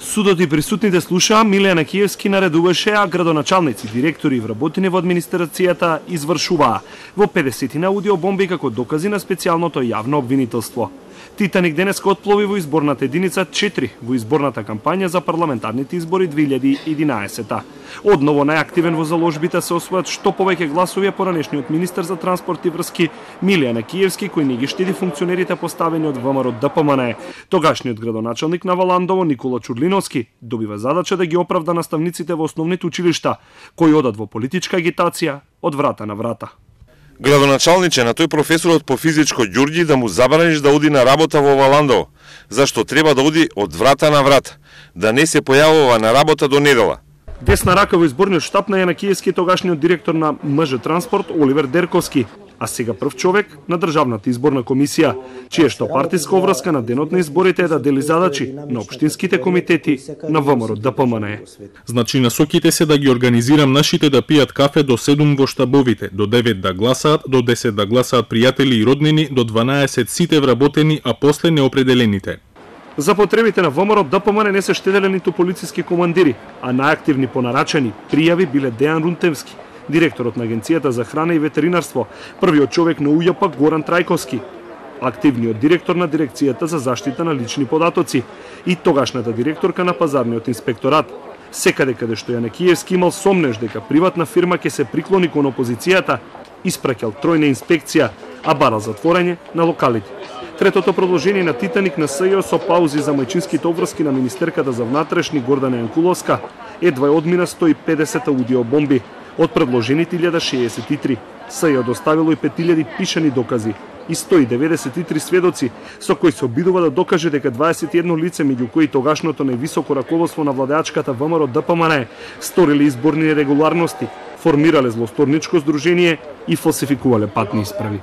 Судот и присутните слушаа, Милијана Киевски наредуваше, а градоначалници, директори и вработени во администрацијата извршуваа во 50 аудиобомби како докази на специјалното јавно обвинителство. Титаник денеска отплови во изборната единица 4 во изборната кампања за парламентарните избори 2011. Одново најактивен во заложбите се освојат што повеќе гласови поранешниот министер за транспорт и врски Милијана Киевски, кој не ги штеди функционерите поставени од ВМРО ДПМН. Тогашниот градоначалник на Валандово Никола Чурлиновски добива задача да ги оправда наставниците во основните училишта кои одат во политичка агитација од врата на врата. Градоначалниче, на тој професорот по физичко Ѓурѓи да му забраниш да оди на работа во Валандово, зашто треба да оди од врата на врата, да не се појавува на работа до недела. Десна рака во изборниот штаб на Јана Киевски тогашниот директор на МЖ Транспорт Оливер Дерковски, а сега прв човек на Државната изборна комисија, чија што партиска обврска на денот на изборите е да дели задачи на општинските комитети на ВМРО ДПМН. Значи насоките се да ги организирам нашите да пијат кафе до 7 во штабовите, до 9 да гласаат, до 10 да гласаат пријатели и роднини, до 12 сите вработени, а после неопределените. За потребите на ВМРО ДПМН не се штеделе ниту полициски командири, а најактивни понарачани пријави биле Дејан Рунтевски, директорот на Агенцијата за храна и ветеринарство, првиот човек на УЈП Горан Трајковски, активниот директор на Дирекцијата за заштита на лични податоци и тогашната директорка на Пазарниот инспекторат. Секаде каде што Јане Киевски имал сомнеж дека приватна фирма ќе се приклони кон опозицијата, испраќал тројна инспекција, а барал затворање на локалите. Третото продолжение на Титаник на СЈО со паузи за мајчинските обврски на министерката за внатрешни Гордана Јанкуловска едва одмина 150 аудиобомби од предложените 1063. СЈО доставило и 5000 пишани докази и 193 сведоци со кои се обидува да докаже дека 21 лице, меѓу кои тогашното највисоко раководство на владеачката ВМРО ДПМН, сториле изборни нерегуларности, формирале злосторничко здружение и фалсификувале патни исправи.